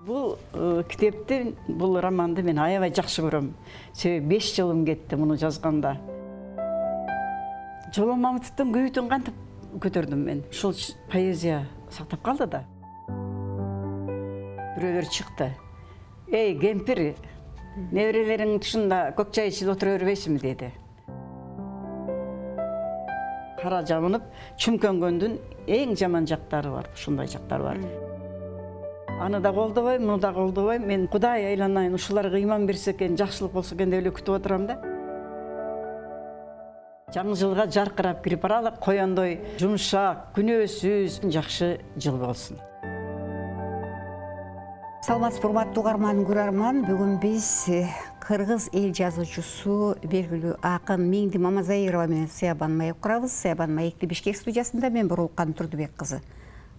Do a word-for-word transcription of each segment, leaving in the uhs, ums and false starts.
Бул китепти, бул романды мен аябай жакшы көрөм. Себеби беш жылым кетти муну жазганда. Жолон Мамытовдун күйүтүн кантип көтөрдүм мен. Ушул поэзия сактап калды да. Бирөөлөр чыкты. Эй, кемпир, неберелериң тушунда көк чай ичип отура бербейсиңби деди. Кара жамынып, чүмкөнгөндүн эң жаман жактары бар, ушундай жактары бар. Аны да колдобойм, муну да колдобойм. Мен Кудай айланайын, ушуларга ыйман берсе экен, жакшылык болсо экен деп эле күтүп отурам да. Жаңы жылга жаркырап кирип баралы, кояндой жумшак, күнөөсүз, жакшы жыл болсун. Саламатсызбы, урматтуу угарман, көрөрман. Бүгүн биз кыргыз эл жазуучусу, белгилүү акын Меңди Мамазаирова менен Сыябан маек курабыз. Сыябан маекти Бишкек студиясында мен Бурулкан Турдубек кызы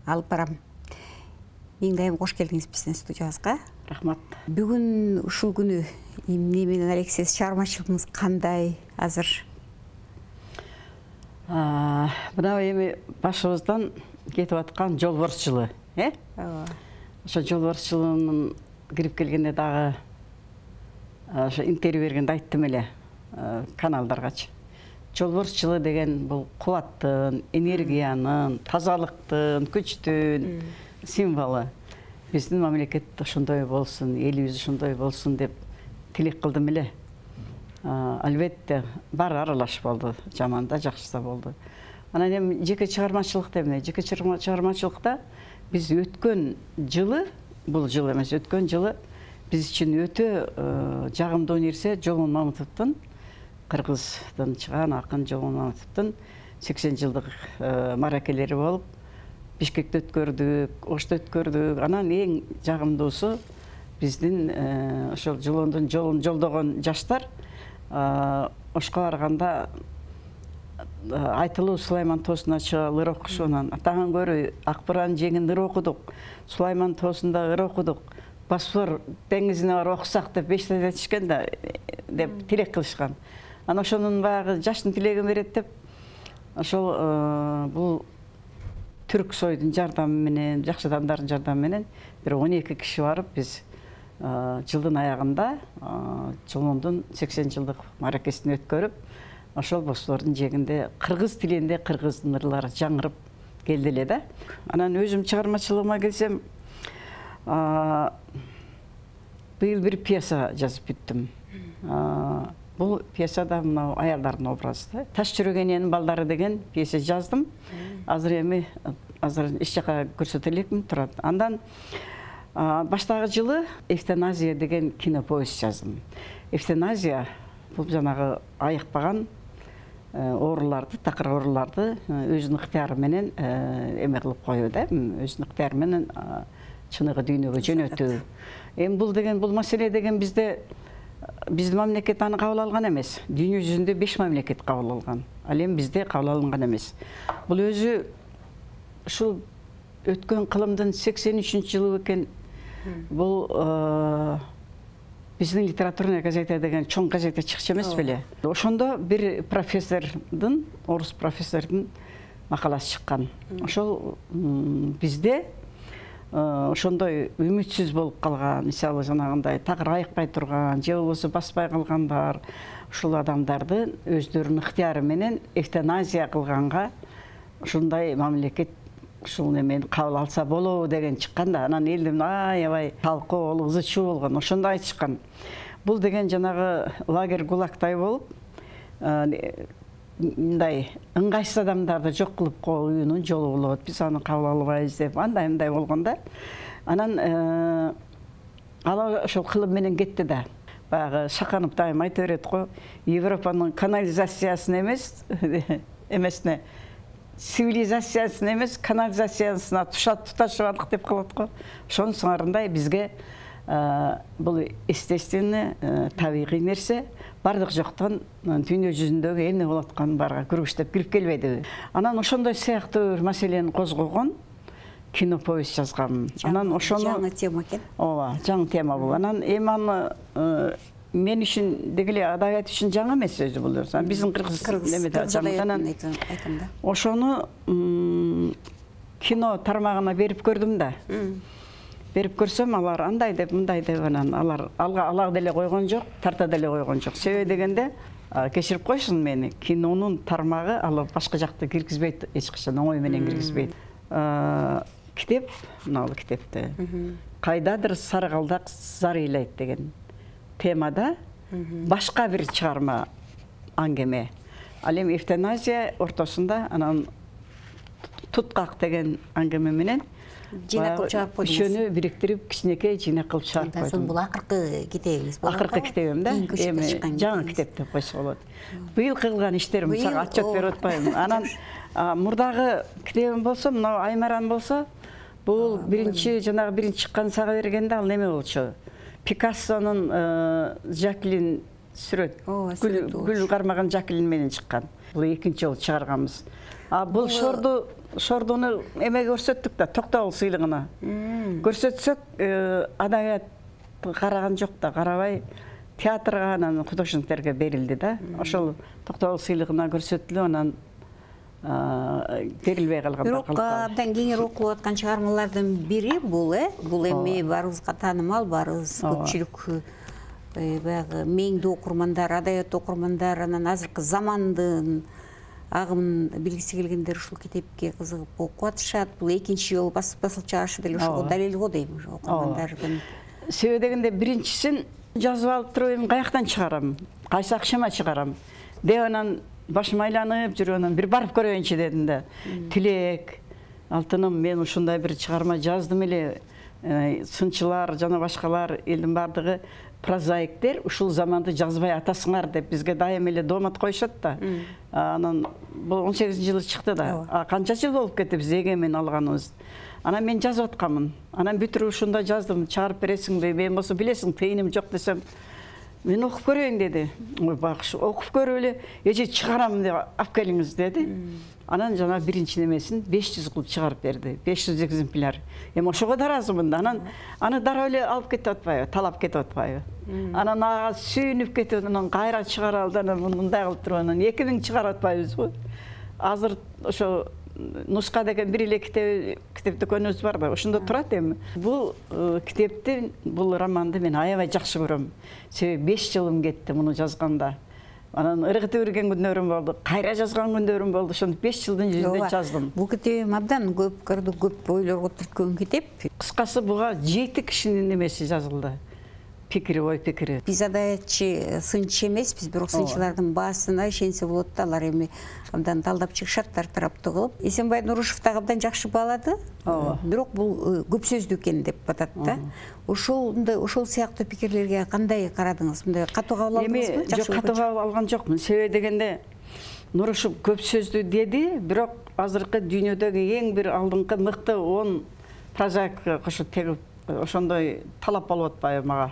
алып барам. Меңди айым, кош келдиңиз биздин студиябызга. Рахмат. Бүгүн ушул күнү эмне менен алексиз, чыгармачылыгыңыз кандай азыр? Мына эми башыбыздан кетип аткан жолборс жылы, э? Ооба. Ошо жолборс жылынын кирип келгенде дагы ошо интервью бергенде айттым эле каналдаргачы. Жолборс жылы деген бул кубаттын, энергиянын, тазалыктын, күчтүн символу. Биздин мамлекет ошондой болсун, элибиз ошондой болсун деп тилек кылдым эле. Албетте баары аралаш болду, жаман да, жакшы да болду. Анан эми жеке чыгармачылыкта эмне? Жеке чыгармачылыкта биз өткөн жылы, бул жыл эмес, өткөн жылы биз үчүн өтө жагымдуу нерсе Жолон Мамытовдун, кыргыздын чыган акын Жолон Мамытовдун сексен жылдык маракелери болуп, Бишкекте өткөрдүк, Ошто өткөрдүк. Анан эң жагымдуусу биздин ошол Жолондун жолун жолдогон жаштар Ошко барганда Айтылуу Сулайман тоосуна чыгып ыр окушунан атаган көрү Акбыранын жеңин ыр окудук, Сулайман тоосунда ыр окудук, Босфор деңизине барып окусак деп бештен айтышкан да, деп тилек кылышкан. Анан ошонун баягы жаштын тилегин берет деп, ошол бул түрк сойдун жардамы менен, жакшы адамдардын жардамы менен бир он эки киши барып биз жылдын аягында Жолондун сексен жылдык маракесин өткөрүп, ошол Босфордун жээгинде кыргыз тилинде кыргыздын ырлары жаңырып келди эле да. Анан өзүм чыгармачылыгыма келсем, быйыл бир пьеса жазып бүттүм. Бул пьесада мына аялдардын образы. Таш жүрөгөнүн балдары деген пьеса жаздым. Азыр эми азыр иш жака көрсөтө элекмин, турат. Андан баштагы жылы Эвтаназия деген киноповесть жаздым. Эвтаназия бул жанагы айыкпаган ооруларды, такыр ооруларды өзүнүн ыктыяры менен эме кылып коюу да, өзүнүн ыктыяры менен чыныгы дүйнөгө жөнөтүү. Эми бул деген, бул маселе деген бизде биздин мамлекет аны кабыл алган эмес. Дүйнө жүзүндө беш мамлекет кабыл алган. Ал эми бизде кабыл алынган эмес. Бул өзү ушул өткөн кылымдын сексен үчүнчү жылы экен. Бул биздин литературная газета деген чоң газета чыкчу эмес беле. Ошондо бир профессордун, орус профессордун макаласы чыккан. Ошол бизде ошондой үмүтсүз болуп калган, мисалы жанагындай такыр айыкпай турган, же болбосо баспай калгандар, ушул адамдарды өздөрүнүн ыктыяры менен эвтаназия кылганга ушундай мамлекет ушул немени кабыл алса болобу деген чыккан да. Анан элдин аябай талкуу болуп, ызы чуу болгон. Ошондо айтышкан. Бул деген жанагы лагерь гулагтай болуп, мындай ыңгайсыз адамдарды жок кылып коюунун жолу болот. Биз аны кабыл албайбыз деп, андай мындай болгон да. Анан ал ошол кылым менен кетти да. Баягы Шаканов дайым айта берет го, Европанын канализациясын эмес, эмесине цивилизациясын эмес, канализациясына туташыбадык деп калат го. Ошонун соңарында бизге бул естественно, табигый нерсе, бардык жоктон дүйнө жүзүндөгү эмне болуп атканын барга көргүчтөп кирип келбейдиби. Анан ошондой сыяктуу бир маселени козгогон киноповесть жазгам. Анан ошону жаңы тема экен. Ооба, жаңы тема бул. Анан эми аны мен үчүн дегеле адабият үчүн жаңы эмес өзү бул. Биздин кыргыз немеде жаңы. Ошону кино тармагына берип көрдүм да. берип көрсөм алар андай деп мындай деп анан алар алга ала деле койгон жок, тарта деле койгон жок. Себеби дегенде кечирип койсун мени, кинонун тармагы ал башка жакта киргизбейт, эч качан оңой менен киргизбейт. Китеп, мына бул китепте кайдадыр саргалдак зар ыйлайт деген темада башка бир чыгарма аңгеме. Ал эми эвтаназия ортосунда анан туткак деген аңгеме менен жыйнак кылып чыгарып койдуңуз. Үшөөнү бириктирип кичинекей жыйнак кылып чыгарып койдум. Сон бул акыркы китебиңиз болот. Акыркы китебим да. Эми жаңы китеп деп койсо болот. Быйыл кылган иштерим мисалга отчет берип атпайбы. Анан мурдагы китебим болсо, мына Аймаран болсо, бул биринчи жанагы биринчи чыккан сага бергенде ал неме болчу. Пикассонун Жаклин сүрөт, гүл кармаган Жаклин менен чыккан. Бул экинчи жолу чыгарганбыз. А бул шорду шордуну эме көрсөттүк да, Токтогул сыйлыгына. Көрсөтсөк, адабият караган жок да, карабай театрга анан художниктерге берилди да. Ошол Токтогул сыйлыгына көрсөтүлүп, анан берилбей калган. Бирок абдан кеңири окулуп аткан чыгармалардын бири бул, э? Бул эми баарыбызга таанымал, баарыбыз көпчүлүк баягы меңди окурмандар, адабият окурмандар, анан азыркы замандын агымын билгиси келгендер ушул китепке кызыгып окуп атышат. Бул экинчи жолу басылып чыгарышы деле ошого далил го дейм, окурмандардын. Себеби дегенде биринчисин жазып алып туруп эми каяктан чыгарам, кайсы акчама чыгарам деп анан башым айланып жүрүп анан бир барып көрөйүнчү дедим да. Тилек, алтыным, мен ушундай бир чыгарма жаздым эле. Сынчылар жана башкалар, элдин бардыгы прозаиктер ушул заманды жазбай атасыңар деп бизге дайым эле доомат коюшат да. Анан бул он сегизинчи жылы чыкты да. А канча жыл болуп кетти биз эгемен алганыбыз. Анан мен жазып атканмын. Анан бүтүрүп ушунда жаздым, чыгарып бересиңби? Мен болсо билесиң, тыйыным жок десем, мен окуп көрөйүн деди. Ой, бакшы, окуп көрүп эле, эже чыгарам деп алып келиңиз деди. Анан жана биринчи немесин беш жүз кылып чыгарып берди. беш жүз экземпляр. Эми ошого да ыраазымын да. Анан аны дароо эле алып кетип атпайбы, талап кетип атпайбы. Анан ага сүйүнүп кетип, анан кайра чыгара алды, анан мындай кылып туруп, анан эки миң чыгарып атпайбызбы? Азыр ошо нуска деген бир эле китеп китеп дүкөнүбүз бар да, ошондо турат эми. Бул китепти, бул романды мен аябай жакшы көрөм. Себеби беш жылым кетти муну жазганда. Анан ыргытып үрген күндөрүм болду, кайра жазган күндөрүм болду. Ошондо беш жылдын жүзүндө жаздым. Бул китебим абдан көп көрдү, көп ойлорго түрткөн китеп. Кыскасы буга жети кишинин немеси жазылды. Пикири, ой пикири. Биз адабиятчы сынчы эмеспиз, бирок сынчылардын баасына ишенсе болот да, алар эми абдан талдап чыгышат, тараптуу кылып. Эсенбай Нурушев дагы абдан жакшы баалады. Бирок бул көп сөздүү экен деп атат да. Ошолундай, ошол сыяктуу пикирлерге кандай карадыңыз? Мындай катуу кабыл алдыңызбы? Жок, катуу кабыл алган жокмун. Себеби дегенде Нурушев көп сөздүү деди, бирок азыркы дүйнөдөгү эң бир алдыңкы мыкты он прозаик кошо тегип ошондой талап болуп атпайбы мага?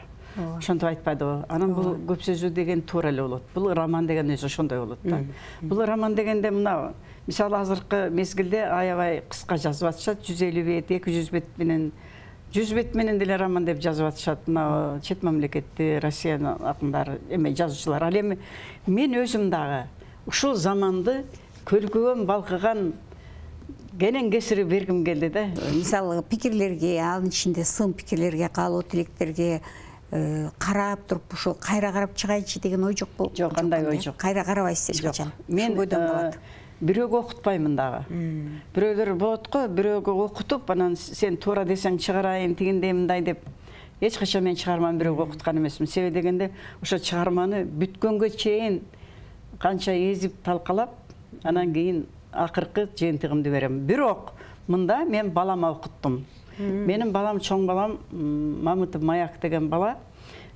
Ошентип айтпайдыбы? Анан бул көп сөздүү деген туура эле болот. Бул роман деген өзү ошондой болот да. Бул роман дегенде мына, мисалы азыркы мезгилде аябай кыска жазып атышат, жүз элүү бет, эки жүз бет менен, жүз бет менен деле роман деп жазып атышат. Мына чет мамлекетти, Россиянын акындары, эме жазуучулар. Ал эми мен өзүм дагы ушул заманды көлкүгөн балкыган кенен кесири бергим келди да. Мисалы пикирлерге, анын ичинде сын пикирлерге, каалоо тилектерге карап туруп ошол кайра карап чыгайынчы деген ой жок болуп? Жок, андай ой жок. Кайра карабайсыз эч качан. Мен бирөөгө окутпаймын дагы. Бирөөлөр болот го, бирөөгө окутуп, анан сен туура десең чыгарайын, тигиндей мындай деп. Эч качан мен чыгарманы бирөөгө окуткан эмесмин. Себеби дегенде ошо чыгарманы бүткөнгө чейин канча эзип талкалап, анан кийин акыркы жыйынтыгымды берем. Бирок мында мен балама окуттум. Менин балам, чоң балам, Мамытов Маяк деген бала,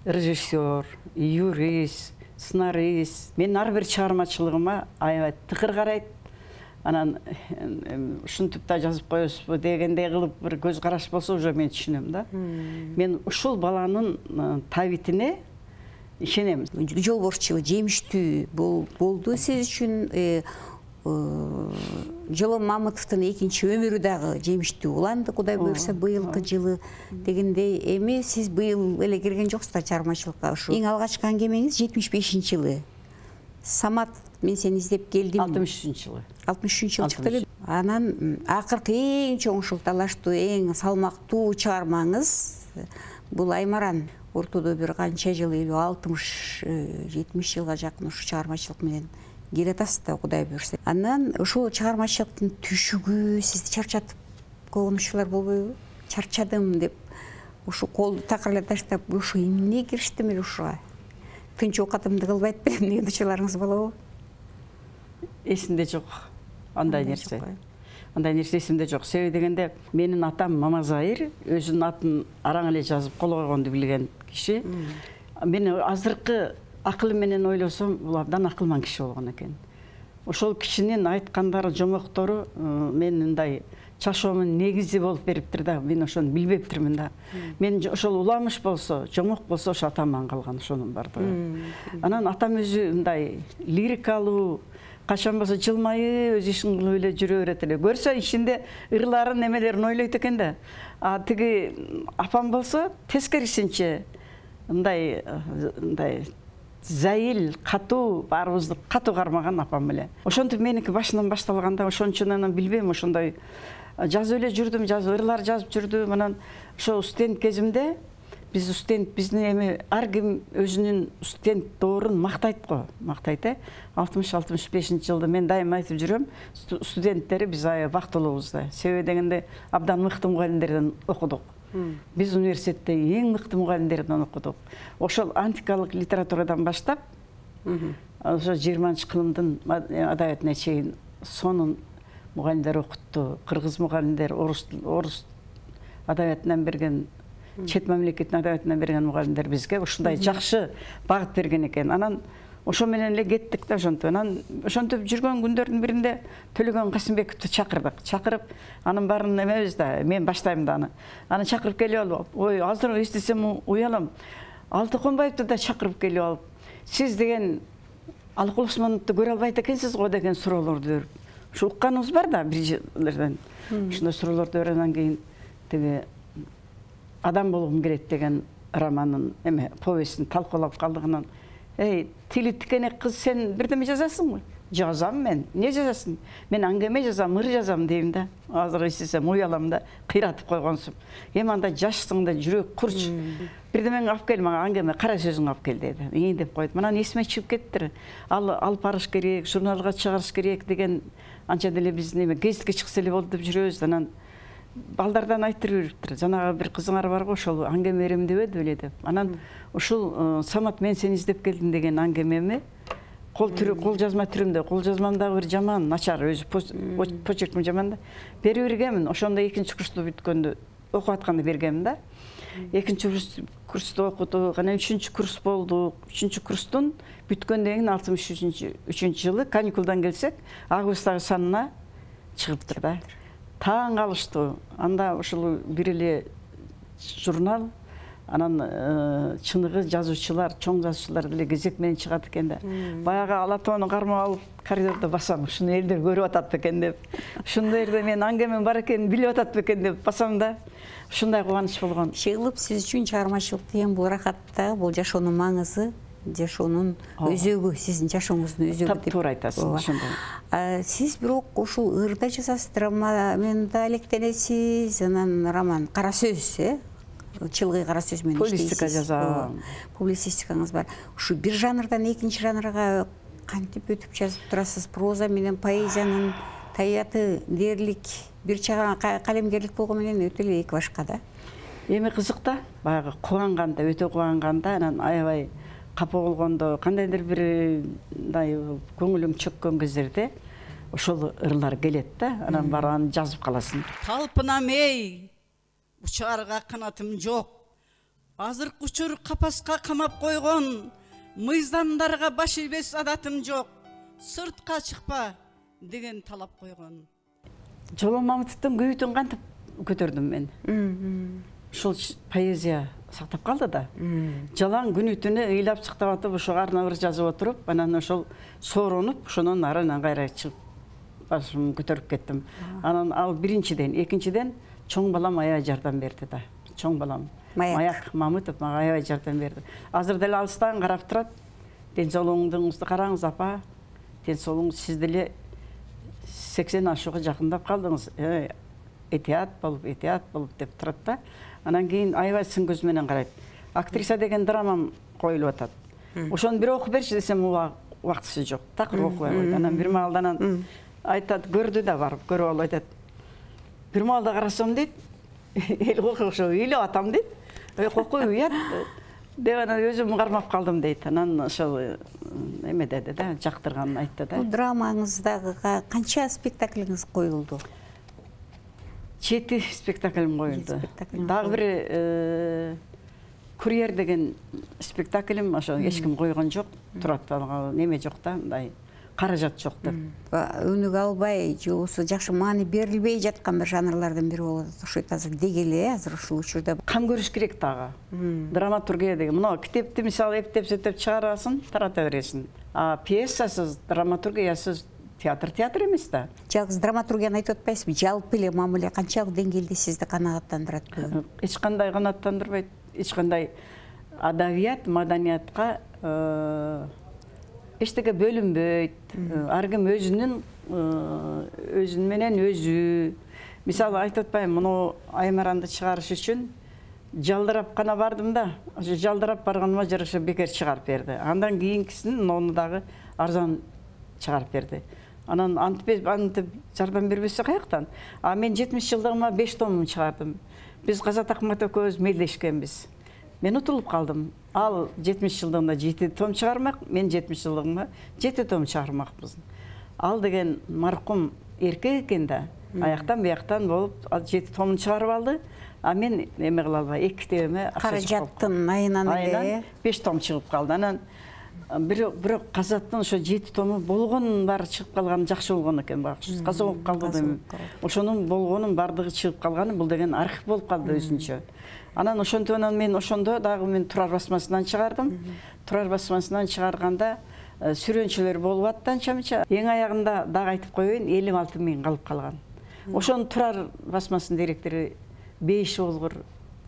режиссер, юрист, сценарист. Мен ар бир чыгармачылыгыма аябай тыкыр карайт. Анан ушинтип да жазып коесузбу дегендей кылып бир көз караш болсо уже мен түшүнөм да. Мен ушул баланын табитине ишенем. Жолборчу, жемиштүү болду сиз үчүн. Жолом Мамытовдун экинчи өмүрү дагы жемиштүү уланды, Кудай буйрса быйылкы жылы дегендей. Эми сиз быйыл эле кирген жоксуздар чыгармачылыкка. Эң алгачкы аңгемеңиз жетимиш бешинчи жылы Самат, мен сени издеп келдим. алтымыш үчүнчү жылы. алтымыш үчүнчү жылы чыкты эле. Анан акыркы эң чоң шылталаштуу, эң салмактуу чыгармаңыз бул Аймаран. Ортодо бир канча жыл, элүү, алтымыш, жетимиш жылга жакын ушу чыгармачылык менен келатасыз да, Кудай буюрса. Анан ошол чыгармачылыктын түшүгү сизди чарчатып койгонушуулар болбойбу? Чарчадым деп ушу колду такыр эле таштап, ушу эмне кириштим эле ушуга? Тынч оокатымды кылбайт белем деген учурларыңыз болобу? Эсимде жок андай нерсе. Андай нерсе эсимде жок. Себеби дегенде, менин атам Мамазайыр өзүнүн атын араң эле жазып кол койгонду билген киши. Мен азыркы акылым менен ойлосом, бул абдан акылман киши болгон экен. Ошол кишинин айткандары, жомоктору мен мындай чашоомдун негизи болуп бериптир да. Мен ошону билбептирмин да. Мен ошол уламыш болсо, жомок болсо ошо атаман калган ошонун бардыгы. Анан атам өзү мындай лирикалуу, качан болсо жылмайып өз ишин кылып эле жүрө берет эле. Көрсө ишинде ырларын, немелерин ойлойт экен да. А тиги апам болсо тескерисинче мындай мындай зайыл, катуу, баарыбызды катуу кармаган апам эле. Ошентип меники башынан башталганда, ошончун анан билбейм, ошондой жазып эле жүрдүм, жазып ырлар жазып жүрдүм. Анан ошо студент кезимде биз студент биздин эми ар ким өзүнүн студент доорун мактайт го, мактайт э. алтымыш алтымыш бешинчи жылда мен дайыма айтып жүрөм, студенттери биз аябай бактылуубуз да. Себеби дегенде абдан мыкты мугалимдерден окудук. Биз университетте эң мыкты мугалимдерден окудук. Ошол антикалык литературадан баштап, ошо жыйырманчы кылымдын адабиятына чейин сонун мугалимдер окутту. Кыргыз мугалимдер, орус орус адабиятынан берген, чет мамлекеттин адабиятынан берген мугалимдер бизге ушундай жакшы багыт берген экен. Анан ошо менен эле кеттик да ошентип. Анан ошентип жүргөн күндөрдүн биринде Төлөгөн Касымбековду чакырдык. Чакырып, анын баарын эмебиз да, мен баштайм да аны. Аны чакырып келип алып, ой, азыр эстесем уялам. Алтыконбаевди да чакырып келип алып, сиз деген Алыкул Усмановду көрө албайт экенсиз го деген суроолорду берип. Ушу укканыбыз бар да бир жерлерден. Ушундай суроолорду беренен кийин тиги Адам болгум келет деген романын эме повестин талкуулап калдыгынан, эй, тили тикенек кыз, сен бирдеме жазасыңбы? Жазам мен. Не жазасың? Мен аңгеме жазам, ыр жазам дейм да. Азыр эстесем уялам да, кыйратып койгонсуң. Эми анда жашсың да, жүрөк курч. Бирдемени алып кел, мага аңгеме, кара сөзүңдү алып кел деди. Ии деп койду. Мына эсиме чыгып кеттир. Ал алып барыш керек, журналга чыгарыш керек деген анча деле биз неме гезитке чыкса эле болду деп жүрөбүз. Анан балдардан айтырып бериптир. Жанагы бир кызыңар бар го, ошол аңгеме берем дебеди беле деп. Анан ушул Самат, мен сени издеп келдим деген аңгемеми кол түрү, кол жазма түрүмдө, кол жазмам дагы бир жаман, начар, өзү почерким жаман да. Берип бергенмин. Ошондо экинчи курсту бүткөндө окуп атканда бергенмин да. Экинчи курсту окудук, анан үчүнчү курс болду. Үчүнчү курстун бүткөндөн кийин алтымыш үчүнчү жылы каникулдан келсек, августтагы санына чыгыптыр да. Таң калыштуу. Анда ушул бир эле журнал, анан чыныгы жазуучулар, чоң жазуучулар деле кезек менен чыгат экен да. Баягы ала тоону кармап алып коридордо басам, ушуну элдер көрүп атат бекен деп. Ушундай жерде мен аңгемем бар экенин билип атат бекен деп басам да. Ушундай кубаныч болгон. Чыгылып, сиз үчүн чыгармачылык деген бул рахат да, бул жашоонун маңызы, жашоонун өзөгү, сиздин жашооңуздун өзөгү деп. Туура айтасыз, ошондой. Сиз бирок ушул ырда жазасыз, драма менен да алектенесиз, анан роман, кара сөз, э? Чылгый кара сөз менен иштейсиз. Публистика жазам. Публистикаңыз бар. Ушу бир жанрдан экинчи жанрга кантип өтүп жазып турасыз? Проза менен поэзиянын таbiаты дээрлик, бир чаган калемгерлик болгон менен өтө эле эки башка да. Эми кызык да, баягы кубанганда, өтө кубанганда, анан аябай капа болгондо, кандайдыр бир мындай көңүлүң чөккөн кездерде ошол ырлар келет да, анан барып жазып каласың. Талпынам эй, учарга канатым жок. Азыркы учур капаска камап койгон, мыйзамдарга баш ийбес адатым жок. Сыртка чыкпа деген талап койгон. Жолон Мамытовдун күйүтүн кантип көтөрдүм мен. Ушул поэзия сактап калды да. Жалаң күнүтүнө ыйлап сактап атып, ошого арнап ыр жазып отуруп, анан ошол сооронуп, ошонун арынан кайра чыгып башым көтөрүп кеттим. Анан ал биринчиден, экинчиден чоң балам аябай жардам берди да. Чоң балам Маяк Мамытов мага аябай жардам берди. Азыр деле алыстан карап турат. ден соолугуңузду караңыз апа, ден соолугуңуз сиз деле сексен ашууга жакындап калдыңыз, этият болуп, этият болуп деп турат да. Анан кийин аябай сын көз менен карайт. Актриса деген драмам коюлуп атат. Ошону бир окуп берчи десем, убактысы жок. Такыр окубай койт. Анан бир маалда анан айтат, көрдү да барып, көрүп алып айтат. Бир маалда карасам дейт, эл окшоп үйлөп атам дейт. Кокой уят деп анан өзүм кармап калдым дейт. Анан ошол эме деди да, жактырганын айтты да. Бул драмаңыздагы канча спектаклиңиз коюлду? Жети спектаклим коюлду. Дагы бир Курьер деген спектаклим ошо эч ким койгон жок. Турат неме жок да, мындай каражат жок деп. Өнүгө албай, же болбосо жакшы маани берилбей жаткан бир жанрлардын бири болот окшойт азыр дегеле, азыр ушул учурда. Кам көрүш керек дагы. Драматургия деген. Мына китепти мисалы эптеп сөтөп чыгарасың, тарата бересиң. А пьесасыз, драматургиясыз театр театр эмес да. Жалгыз драматургияны айтып атпайсызбы? Жалпы эле мамиле канчалык деңгээлде сизди канааттандырат? Эч кандай канааттандырбайт. Эч кандай адабият, маданиятка эчтеке бөлүнбөйт. Ар ким өзүнүн өзүн менен өзү. Мисалы айтып атпайм, муну Аймаранды чыгарыш үчүн жалдырап гана бардым да. Ошо жалдырап барганыма жараша бекер чыгарып берди. Андан кийинкисин мону дагы арзан чыгарып берди. Анан антип антип жардам бербесе каяктан? А мен жетимиш жылдыгыма беш томун чыгардым. Биз Казат Акмат экөөбүз мелдешкенбиз. Мен утулуп калдым. Ал жетимиш жылдыгында жети том чыгармак, мен жетимиш жылдыгыма жети том чыгармакпыз. Ал деген маркум эркек экен да, аяктан бияктан болуп, ал жети томун чыгарып алды. А мен эме кыла албай, эки китебиме каражаттын айынан эле беш том чыгып калды. Анан бирок Казаттын ошо жети тому болгонун баары чыгып калганы жакшы болгон экен бакчы. Каза болуп калды дейм. Ошонун болгонун бардыгы чыгып калганы бул деген архив болуп калды өзүнчө. Анан ошонтип анан мен ошондо дагы мен Турар басмасынан чыгардым. Турар басмасынан чыгарганда сүрөөнчүлөр болуп атты анча-мынча. Эң аягында дагы айтып коеюн, элүү алты миң калып калган. Ошону Турар басмасынын директору Бейиш болгор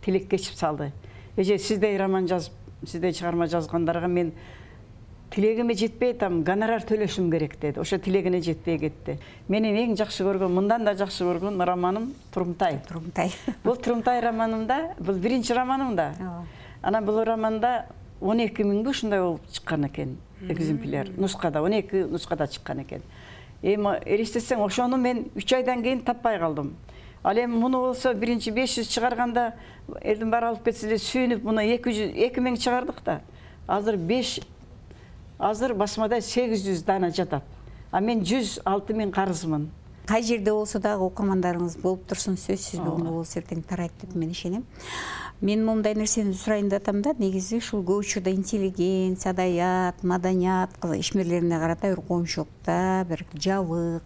тилекке чип салды. Эже сиздей роман жазып, сиздей чыгарма жазгандарга мен тилегиме жетпей атам, гонорар төлөшүм керек деди. Ошо тилегине жетпей кетти. Менин эң жакшы көргөн, мындан да жакшы көргөн романым Турумтай. Турумтай. Бул Турумтай романымда, бул биринчи романым да. Анан бул романда он эки миңбү ушундай болуп чыккан экен, экземпляр. Нускада он эки нускада чыккан экен. Эми элестетсең, ошону мен үч айдан кийин таппай калдым. Ал эми муну болсо биринчи беш жүз чыгарганда элдин баары алып кетсе эле сүйүнүп, муну эки миң чыгардык да. Азыр беш Азыр басмада сегиз жүз дана жатат. А мен жүз алты миң карызмын. Кай жерде болсо дагы окурмандарыңыз болуп турсун, сөзсүз бүгүнкү болсо эртең тарайт деп мен ишенем. Мен момундай нерсени сурайын деп атам да, негизи ушул көп учурда интеллигенция, адаят, маданият ишмерлерине карата бир коомчулукта бир жабык,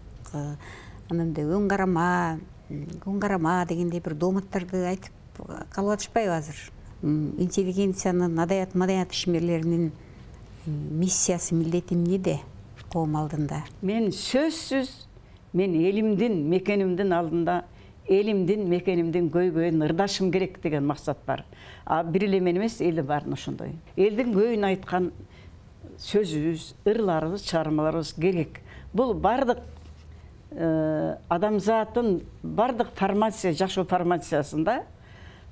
анан да өн карама, өн карама дегендей бир дооматтарды айтып калып атышпайбы азыр? Интеллигенциянын, адаят, маданият ишмерлеринин миссиясы, милдети эмнеде коом алдында? Мен сөзсүз, мен элимдин, мекенимдин алдында, элимдин, мекенимдин көйгөйүн ырдашым керек деген максат бар. А бир эле мен эмес, эли баарын ошондой. Элдин көйүн айткан сөзүбүз, ырларыбыз, чыгармаларыбыз керек. Бул бардык адамзаттын бардык формация, жашоо формациясында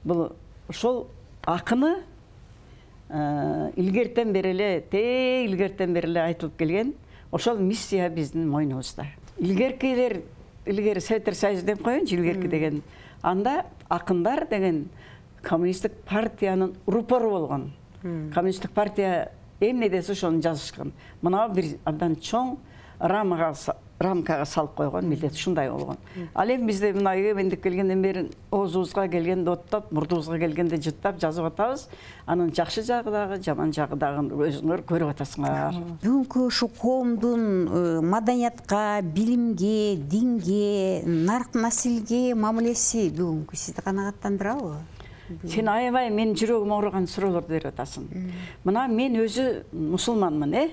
бул ошол акыны илгертен бери эле, те илгертен бери эле айтылып келген. Ошол миссия биздин мойнубузда. Илгеркилер, илгери Советтер Союзу деп коеюнчу, илгерки деген. Анда акындар деген коммунисттик партиянын рупору болгон. Коммунисттик партия эмне десе ошону жазышкан. Мына бир абдан чоң рамага рамкага салып койгон милдет ушундай болгон. Ал эми бизде мына эгемендик келгенден бери оозубузга келгенде оттоп, мурдубузга келгенде жыттап жазып атабыз. Анын жакшы жагы дагы, жаман жагы дагы өзүңөр көрүп атасыңар. Бүгүнкү ушу коомдун маданиятка, билимге, динге, нарк наслге мамилеси бүгүнкү сизди канааттандырабы? Сен аябай мен жүрөгүм ооруган суроолорду берип атасың. Мына мен өзү мусулманмын, э?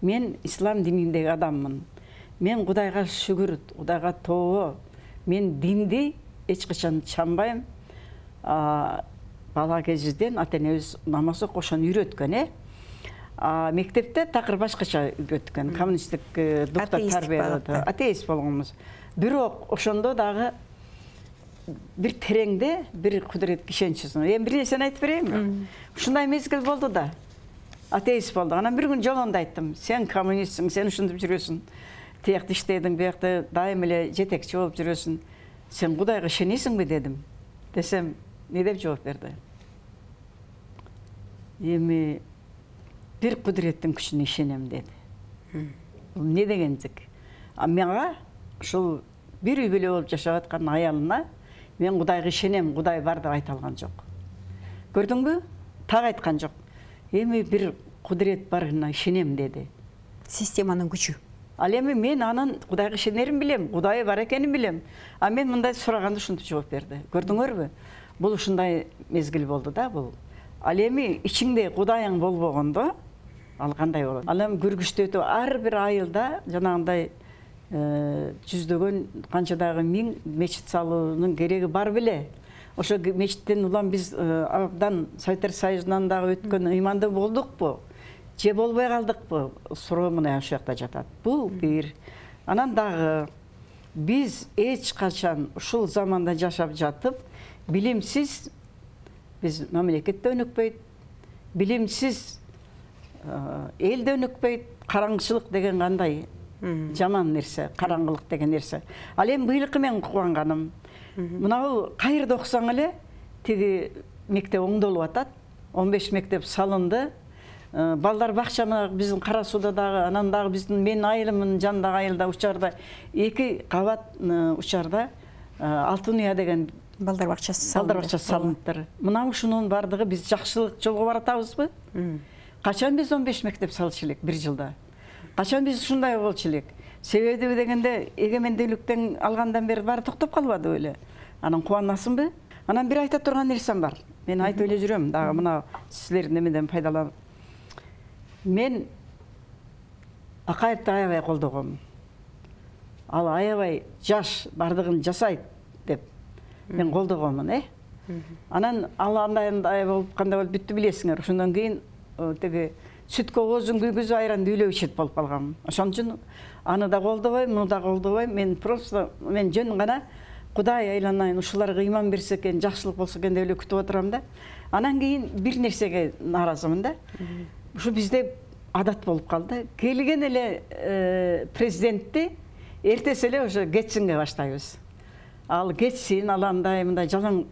Мен ислам дининдеги адаммын. Мен Кудайга шүгүр, Кудайга тообо. Мен динди эч качан чамбайм. Бала кезибизден ата энебиз намаз окуп ошону үйрөткөн, э? А мектепте такыр башкача өткөн. Коммунисттик духта тарбия, атеист болгонбуз. Бирок ошондо дагы бир тереңде бир кудурет ишенчүсүн. Эми бир нерсени айтып берейинби? Ушундай мезгил болду да. Атеист болду. Анан бир күн жолондо айттым: "Сен коммунистсиң, сен ушинтип жүрөсүң. Тиякта иштедиң, биякта дайым эле жетекчи болуп жүрөсүң. Сен Кудайга ишенесиңби?" дедим. Десем, не деп жооп берди? Эми бир кудуреттин күчүнө ишенем деди. Бул эмне дегенсик? А мага ушул бир үй бүлө болуп жашап аткан аялына мен Кудайга ишенем, Кудай бар деп айта алган жок. Көрдүңбү? Так айткан жок. Эми бир кудурет барына ишенем деди. Системанын күчү. Ал эми мен анын Кудайга ишенерин билем, Кудай бар экенин билем. А мен мындай сураганда ушинтип жооп берди. Көрдүңөрбү? Бул ушундай мезгил болду да бул. Ал эми ичиңде Кудайың болбогондо ал кандай болот? Ал эми көргүчтөтүп ар бир айылда жанагындай жүздөгөн канчадагы миң мечит салуунун кереги бар беле. Ошо мечиттен улам биз абдан Советтер Союзунан дагы өткөн ыймандуу болдукпу? Же болбой калдыкпы? Суроо мына ошол жакта жатат. Бул бир. Анан дагы биз эч качан ушул заманда жашап жатып, билимсиз биз мамлекетте өнүкпөйт, билимсиз эл да өнүкпөйт, караңгычылык деген кандай жаман нерсе, караңгылык деген нерсе. Ал эми быйылкы мен кубанганым, мына бул кайерде окусаң эле тиги мектеп оңдолуп атат, он беш мектеп салынды. Балдар бакча биздин Кара Сууда дагы, анан дагы биздин менин айылымдын жанындагы айылда учарда эки кабат учарда Алтын уя деген балдар бакчасы балдар бакчасы салыныптыр. Мына ушунун бардыгы биз жакшылык жолго баратабызбы? Качан биз он беш мектеп салчу элек бир жылда? Качан биз ушундай болчу элек? Себеби дегенде эгемендүүлүктөн алгандан бери баары токтоп калбады беле? Анан кубанасыңбы? Анан бир айта турган нерсем бар. Мен айтып эле жүрөм, дагы мына силердин эмеден пайдаланып. Мен Акаевди аябай колдогом. Ал аябай жаш, бардыгын жасайт деп мен колдогомун, э? Анан ал андай болуп кандай болуп бүттү билесиңер. Ошондон кийин теги сүткө коозун күйгүзүп айранды үйлөп ичет болуп калгам. Ошон үчүн аны да колдобойм, муну да колдобойм. Мен просто мен жөн гана Кудай айланайын, ушуларга ыйман берсе экен, жакшылык болсо экен деп эле күтүп отурам да. Анан кийин бир нерсеге нааразымын да. Ушу бизде адат болуп калды. Келген эле президентти эртеси эле ошо кетсинге баштайбыз. Ал кетсин, ал андай мындай жалаң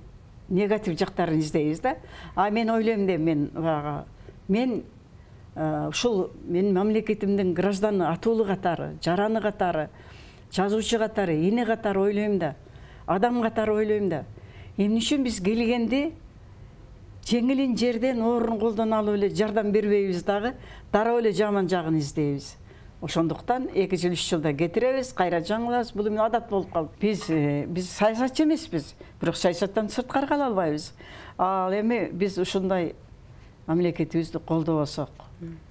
негатив жактарын издейбиз да. А мен ойлойм да, мен баягы мен ушул менин мамлекетимдин гражданы, атуулу катары, жараны катары, жазуучу катары, эне катары ойлойм да, адам катары ойлойм да. Эмне үчүн биз келгенди жеңилин жерден, орун колдон алып эле жардам бербейбиз дагы, дароо эле жаман жагын издейбиз. Ошондуктан эки жыл, үч жылда кетиребиз, кайра жаңылабыз. Бул эми адат болуп калды. Биз биз саясатчы эмеспиз, бирок саясаттан сырткары кала албайбыз. Ал эми биз ушундай мамлекетибизди колдобосок,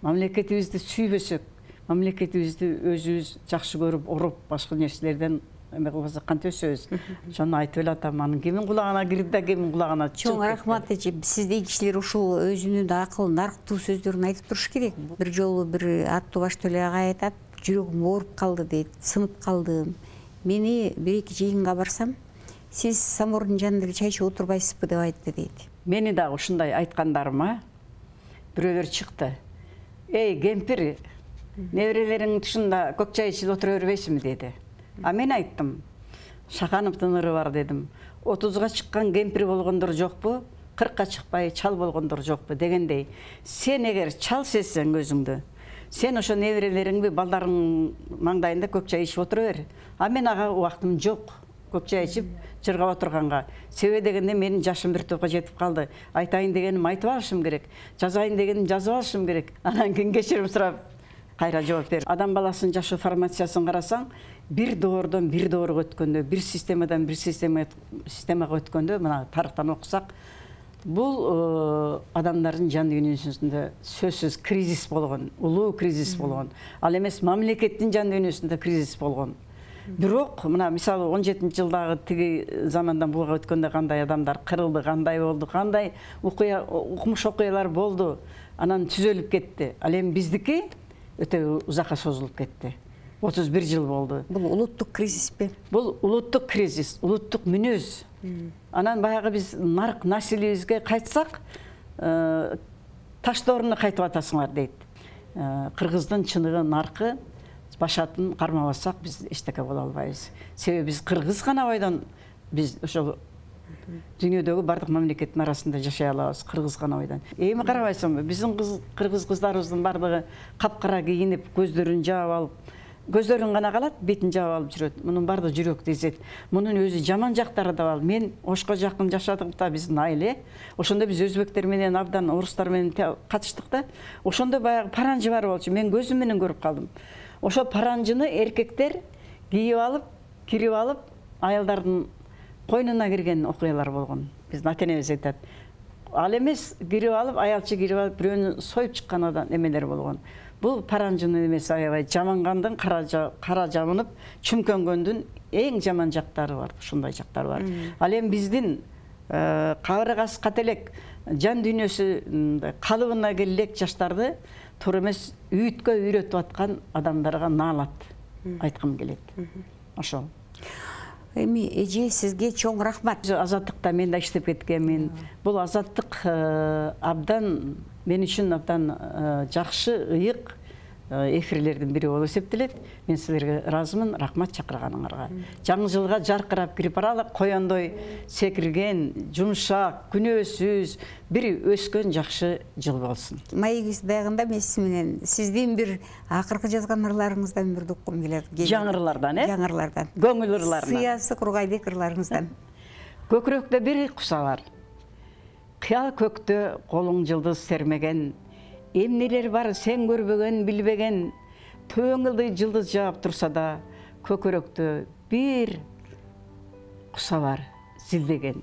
мамлекетибизди сүйбөсөк, мамлекетибизди өзүбүз жакшы көрүп, уруп, башка нерселерден эме кылбасак кантип өсөбүз. Ошону айтып эле атам, анын кимин кулагына кирди да, кимин кулагына чыгып. Чоң рахмат эже. Сиздей кишилер ушул өзүнүн да акыл, нарктуу сөздөрүн айтып туруш керек. Бир жолу бир аттуу баштуу эле агай айтат, жүрөгүм ооруп калды дейт, сынып калдым. Мени бир эки жыйынга барсам, сиз самордун жанында эле чай ичип отурбайсызбы деп айтты дейт. Мени дагы ушундай айткандарыма бирөөлөр чыкты. Эй, кемпир, неберелериң тушунда көк чай ичип отура бербейсиңби деди. А мен айттым, Шахановдун ыры бар дедим. отузга чыккан кемпир болгондор жокпу, кыркка чыкпай чал болгондор жокпу дегендей. Сен эгер чал сезсең өзүңдү, сен ошо неберелериңби, балдарың маңдайында көк чай ичип отура бер. А мен ага убактым жок көк чай ичип чыргап отурганга. Себеби дегенде менин жашым бир топко жетип калды. Айтайын дегеним айтып алышым керек, жазайын дегеним жазып алышым керек. Анан кийин кечирим сурап кайра жооп бер. Адам баласынын жашоо формациясын карасаң, бир доордон бир доорго өткөндө, бир системадан бир системага өткөндө, мына тарыхтан окусак, бул адамдардын жан дүйнөсүндө сөзсүз кризис болгон, улуу кризис болгон. Ал эмес мамлекеттин жан дүйнөсүндө кризис болгон. Бирок мына мисалы он жетинчи жылдагы тиги замандан буга өткөндө кандай адамдар кырылды, кандай болду, кандай окуя укмуш окуялар болду, анан түзөлүп кетти. Ал эми биздики өтө узакка созулуп кетти. отуз бир жыл болду. Бул улуттук кризиспи? Бул улуттук кризис, улуттук мүнөз. Анан баягы биз нарк населибизге кайтсак, таштооруну кайтып атасыңар дейт. Кыргыздын чыныгы наркы башатын кармабасак биз эчтеке боло албайбыз. Себеби биз кыргыз гана бойдон биз ошол дүйнөдөгү бардык мамлекеттин арасында жашай алабыз, кыргыз гана бойдон. Эми карабайсыңбы, биздин кыргыз кыздарыбыздын бардыгы капкара кийинип, көздөрүн жаап алып, көздөрүн гана калат, бетин жаап алып жүрөт. Мунун бардыгы жүрөктү эзет. Мунун өзү жаман жактары да бар. Мен Ошко жакын жашадым да, биздин айыле. Ошондо биз өзбектер менен абдан, орустар менен катыштык да. Ошондо баягы паранжы бар болчу. Мен көзүм менен көрүп калдым. Ошо паранжыны эркектер кийип алып, кирип алып, аялдардын койнуна кирген окуялар болгон. Биздин ата-энебиз айтат. Ал эмес, кирип алып, аялчы кирип алып, бирөөнү союп чыккан адам эмелер болгон. Бул паранжынын эмеси аябай жамангандын, кара жамынып, чүмкөнгөндүн эң жаман жактары бар, ушундай жактары бар. Ал эми биздин кабыргасы кателек, жан дүйнөсү калыбына келелек жаштарды туура эмес үйүткө үйрөтүп аткан адамдарга наалат айткым келет. Ошол. Эми эже, сизге чоң рахмат. Азаттыкта мен да иштеп кеткенмин. Бул азаттык абдан мен үчүн абдан жакшы, ыйык эфирлердин бири болуп эсептелет. Мен силерге ыраазымын, рахмат чакырганыңарга. Жаңы жылга жаркырап кирип баралы, кояндой секирген, жумшак, күнөөсүз, бир өскөн жакшы жыл болсун. Маегибиз дайгында мен сиз менен сиздин бир акыркы жазган ырларыңыздан бир уккум келет. Жаңы ырлардан, э? Жаңы ырлардан. Көңүл ырларынан. Сыясы кургайдек ырларыңыздан. Көкүрөктө бир куса бар. Кыял көктө колуң жылдыз сермеген, эмнелер бар сен көрбөгөн, билбеген, төңүлдү жылдыз жаап турса да, көкүрөктө бир куса бар, зилдеген.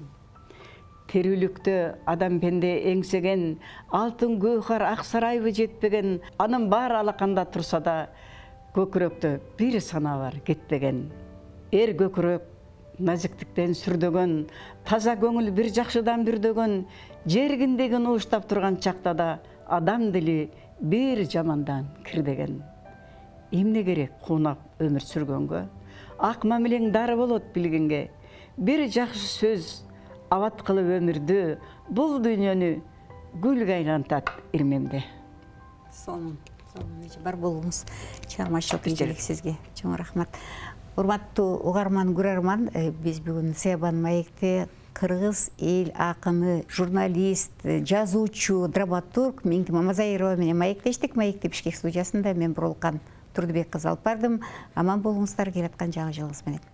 Терүүлүктө адам пенде эңсеген, алтын көөхар ак сарайбы жетпеген, анын бар алаканда турса да, көкүрөктө бир сана бар, кетпеген. Эр көкүрөк назиктиктен сүрдөгөн, таза көңүл бир жакшыдан бүрдөгөн, жергиндегин уштап турган чакта да адам дили бир жамандан кирдеген. Эмне керек куунап өмүр сүргөнгө, ак мамилең дары болот билгенге, бир жакшы сөз абат кылып өмүрдү, бул дүйнөнү гүлгө айлантат ирмемде. Сонун, сонун эже, бар болуңуз. Чыгармачылык эжелик сизге чоң рахмат. Урматтуу угарман, көрөрман, биз бүгүн Саябан маекте кыргыз эл акыны, журналист, жазуучу, драматург Миңди Мамазайырова менен маектештик. Маекте Бишкек студиясында мен Бурулкан Турдубек кызы алып бардым. Аман болуңуздар, келаткан жаңы жылыңыз менен.